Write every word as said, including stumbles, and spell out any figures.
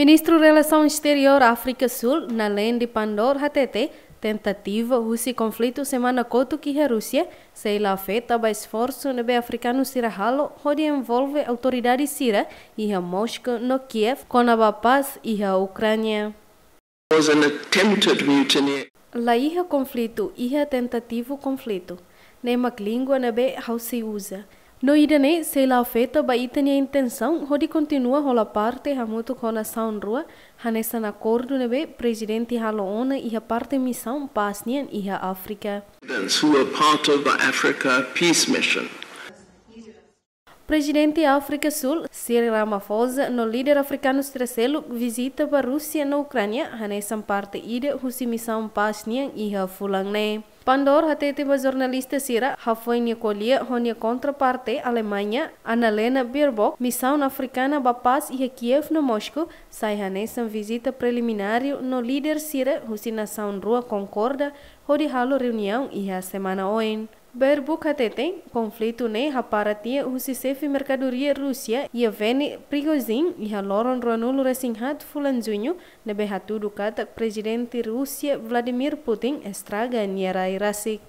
Ministru Relasaun Exteriór Áfrika Súl, Naledi Pandor, hatete tentativa husi konflitu semana kotuk iha Rúsia sei la afeta ba esforsu ne'ebé afrikanu sira halo hodi envolve autoridade sira iha Moscou no Kiev kona-ba pás iha Ukránia. Was an attempted mutiny. La iha konflitu, iha tentativu konflitu. Ne'e mak língua ne'ebé ha'u sei uza. No ida-ne'e sei la afeta ba ita-nia intensaun hodi kontinua hola parte hamutuk ho nasaun rua, hanesan akordu ne'ebé Prezidente halo ona iha parte misaun pás nian iha Áfrika. Who were part of the Africa peace mission. Prezidente Áfrika Súl, Cyril Ramaphosa, no líder afrikanu sira seluk vizita ba Rúsia no Ukránia, hanesan parte ida husi misaun pás nian iha fulan ne'e. Pandor hatete ba jornalista sira, hafoin nia ko'alia ho nia kontraparte Alemaña, Annalena Baerbock, misaun afrikana ba pás iha Kiev no Moscou sai hanesan vizita prelimináriu no líder sira husi nasaun rua konkorda hodi halo reuniaun iha semana oin. Baerbock hatete, konflitu ne'e hapara tiha husi xefe merkadoria Rúsia, Yevgeny Prigozhin, iha loron ruanulu resin haat fulan Juñu, ne'ebé hatudu katak Prezidente Rúsia, Vladimir Putin, estraga nia rai rasik.